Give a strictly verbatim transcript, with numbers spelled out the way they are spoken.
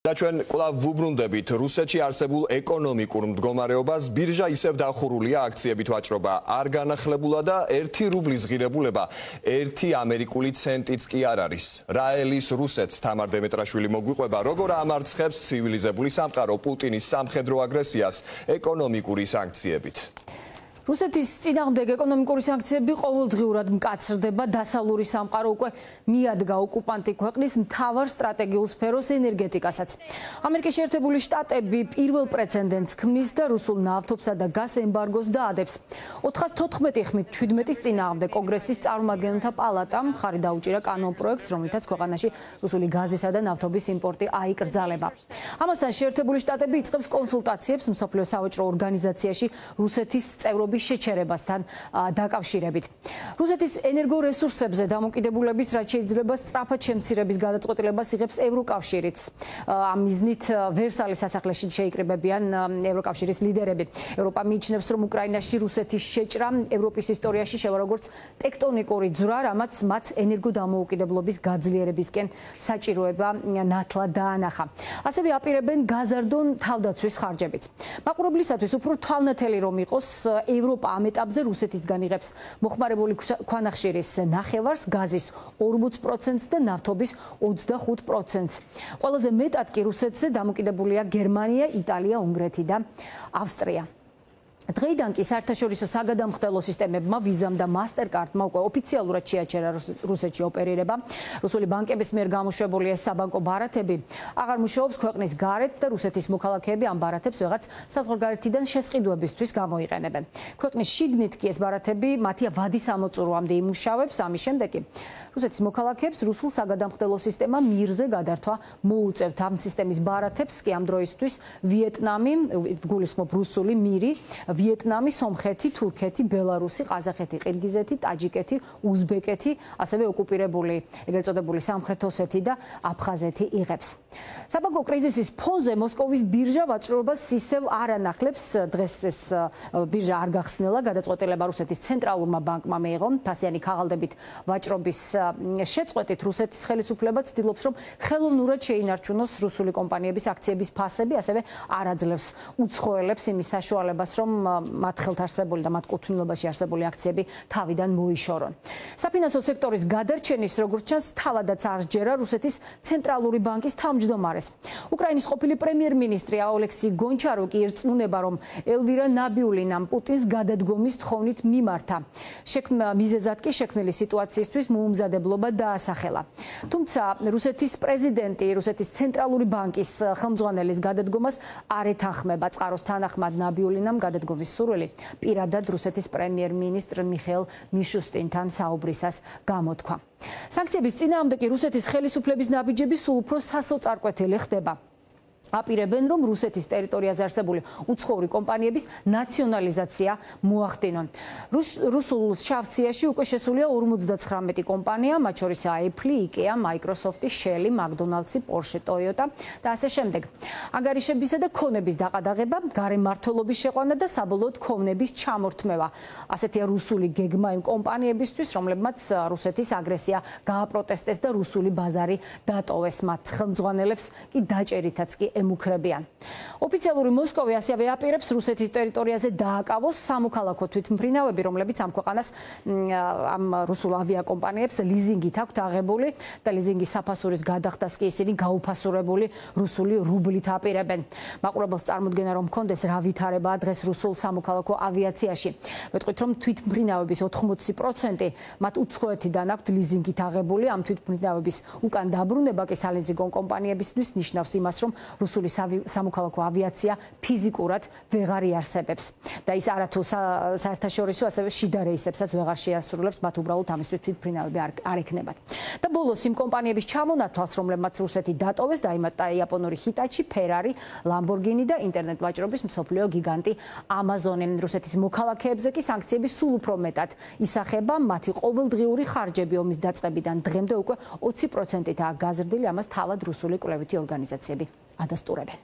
და ჩვენ კვლავ ვუბრუნდებით რუსეთში არსებულ ეკონომიკურ მდგომარეობას. ბირჟა ისევ დახურულია, აქციებით ვაჭრობა არ განახლებულა და ერთი რუბლის ღირებულება ერთი ამერიკული ცენტიც კი არ არის. რა ელის რუსეთს თამარ დემეტრაშვილი მოგვიყვება, როგორ ამარცხებს ცივილიზებული სამყარო პუტინის სამხედრო აგრესიას ეკონომიკური სანქციებით. რუსეთის წინააღმდეგ ეკონომიკური სანქციები ყოველდღიურად მკაცრდება, დასავლური სამყარო უკვე მიადგა ოკუპანტი ქვეყნის მთავარ სტრატეგიულ სფეროს ენერგეტიკასაც. ამერიკის შეერთებული შტატები პირველ პრეცედენტს ქმნის და რუსულ ნავთობსა და გაზ ემბარგოს დაადებს. ოთხას თოთხმეტი ხმით შვიდმეტის წინააღმდეგ კონგრესის წარმომადგენელთა პალატამ ხარი დაუჭირა კანონპროექტს, რომლითაც ქვეყანაში რუსული გაზისა და ნავთობის იმპორტი აიკრძალება. ამასთან შეერთებული შტატები იწყებს კონსულტაციებს მსოფლიო სავაჭრო ორგანიზაციაში რუსეთის წევრობის შეჩერებასთან დაკავშირებით. რუსეთის ენერგორესურსებზე დამოკიდებულების რაც შეიძლება სწრაფად შემცირების გადაწყვეტილებას იღებს ევროკავშირიც. ამ მიზნით ვერსალის სასახლეში შეიკრიბებიან ევროკავშირის ლიდერები. ევროპა მიიჩნევს, რომ უკრაინაში რუსეთის შეჭრა ევროპის ისტორიაში შევა როგორც ტექტონიკური ძვრა, რამაც მათ ენერგოდამოუკიდებლობის გაძლიერებისკენ საჭიროება ნათლად დაანახა. ასევე აპირებენ გაზარდონ თავდაცვის ხარჯებიც. მაყურებლისათვის უფრო თვალნათელი რომ იყოს, ევროპა ამ ეტაპზე რუსეთისგან იღებს მოხმარებული ქვანახშირის ნახევარს, გაზის ორმოც პროცენტს და ნავთობის ოცდახუთ პროცენტს. ყველაზე მეტად კი რუსეთზე დამოკიდებულია გერმანია, იტალია, უნგრეთი და ავსტრია. დღეიდან კი საერთაშორისო საგადამხდელო სისტემებმა ვიზამ და მასტერკარდმა უკვე ოფიციალურად შეაჩერა რუსეთში ოპერირება. რუსული ბანკების მიერ გამოშვებული ეს საბანკო ბარათები აღარ მუშაობს ქვეყნის გარეთ და რუსეთის მოქალაქეები ამ ბარათებს ვეღარც საზღვარგარეთიდან შესყიდვებისთვის გამოიყენებენ. ქვეყნის შიგნით კი ეს ბარათები მათი ვადის ამოწურვამდე იმუშავებს. ამის შემდეგ კი რუსეთის მოქალაქეებს რუსულ საგადამხდელო სისტემა მირზე გადართვა მოუწევთ. ამ სისტემის ბარათებს კი ამ დროისთვის ვიეტნამი, გულისხმობ რუსული მირი, ვიეტნამი, სომხეთი, თურქეთი, ბელარუსი, ყაზახეთი, ყირგიზეთი, ტაჯიკეთი, უზბეკეთი, ასევე ოკუპირებული, ეგრეთ წოდებული სამხრეთ ოსეთი და აფხაზეთი იღებს. საბანკო კრიზისის ფონზე მოსკოვის ბირჟა ვაჭრობას ისევ არ ანახლებს. დღეს ეს ბირჟა არ გახსნილა, გადაწყვეტილება რუსეთის ცენტრალურმა ბანკმა მიიღო. ფასიანი ქაღალდებით ვაჭრობის შეწყვეტით რუსეთის ხელისუფლება ცდილობს, რომ ხელოვნურად შეინარჩუნოს რუსული კომპანიების აქციების ფასები, ასევე არ აძლევს უცხოელებს იმის საშუალებას, რომ მათ ხელთარსებული და მათ კუთვნილებაში არსებული აქციები თავიდან მოიშორონ. საფინანსო სექტორის გადარჩენის როგორც ჩანს თავადაც არ სჯერა რუსეთის ცენტრალური ბანკის თავმჯდომარეს. უკრაინის ყოფილი პრემიერ-მინისტრი ოლექსი გონჩაროკი ერწმუნება, რომ ელვირა ნაბიულინამ პუტინს გადადგომის თხოვნით მიმართა. მიზეზად კი შექმნილი სიტუაციისთვის მოუმზადებლობა დაასახელა. თუმცა რუსეთის პრეზიდენტი რუსეთის ცენტრალური ბანკის ხელმძღვანელის გადადგომას არ ეთანხმება. წყაროს თანახმად ნაბიულინამ გადადგომის სურვილი პირადად რუსეთის პრემიერ-მინისტრ მიხეილ მიშუსტინთან საუბრისას გამოთქვა. სანქციების წინააღმდეგ კი რუსეთის ხელისუფლების ნაბიჯები სულ უფრო სასოწარკვეთილი ხდება. აპირებენ, რომ რუსეთის ტერიტორიაზე არსებული უცხოური კომპანიების ნაციონალიზაცია მოახდინონ. რუსულ შავსიაში უკვე შესულია ორმოცდაცხრამეტი კომპანია, მათ შორის Apple, IKEA, Microsoft, Shell, McDonald's, Porsche, Toyota და ასე შემდეგ. ანგარიშებისა და ქონების დაყადაღება, გარემმართველობის შეყვანა და საბოლოოდ ქონების ჩამორთმევა. ასეთია რუსული გეგმა იმ კომპანიებისთვის, რომლებმაც რუსეთის აგრესია გააპროტესტეს და რუსული ბაზარი დატოვეს. მათ ხელმძღვანელებს კი დაჭერითაც კი ემუქრებიან. ოფიციალური მოსკოვი ასევე აპირებს რუსეთის ტერიტორიაზე დააკავოს სამოქალაქო თვითმფრინავები, რომლებიც ამ ქვეყანას ამ რუსულ ავიაკომპანიებს ლიზინგით აქვთ აღებული და ლიზინგის საფასურის გადახდას კი ისინი გაუფასურებული რუსული რუბლით აპირებენ. მაყურებელს წარმოდგენა რომ მქონდეს რა ვითარებაა დღეს რუსულ სამოქალაქო ავიაციაში. მეტყვით რომ თვითმფრინავების ოთხმოცი პროცენტი მათ უცხოეთიდან აქვთ ლიზინგით აღებული. ამ თვითმფრინავების უკან დაბრუნება კი სალიზინგო კომპანიებისთვის ნიშნავს იმას, რომ რუსული სამოქალაქო ავიაცია ფიზიკურად ვეღარ იარსებებს და ის არათუ საერთაშორისო ასევე შიდა რეისებსაც ვეღარ შეასრულებს, მათ უბრალოდ ამისთვის თვითმფრინავები არ ექნებათ. და ბოლოს იმ კომპანიების ჩამონათვალს, რომლებმაც რუსეთი დატოვეს, დაიმატა იაპონური ჰიტაჩი, ფერარი, ლამბორგინი და ინტერნეტ ვაჭრობის მსოფლიო გიგანტი ამაზონი. რუსეთის მოქალაქეებზე კი სანქციები სულ უფრო მეტად ისახება. მათი ყოველდღიური ხარჯები ომის დაწყებიდან დღემდე უკვე ოცი პროცენტითაა გაზრდილი, ამას თავად რუსული კვლევითი ორგანიზაციები ადასტურებენ.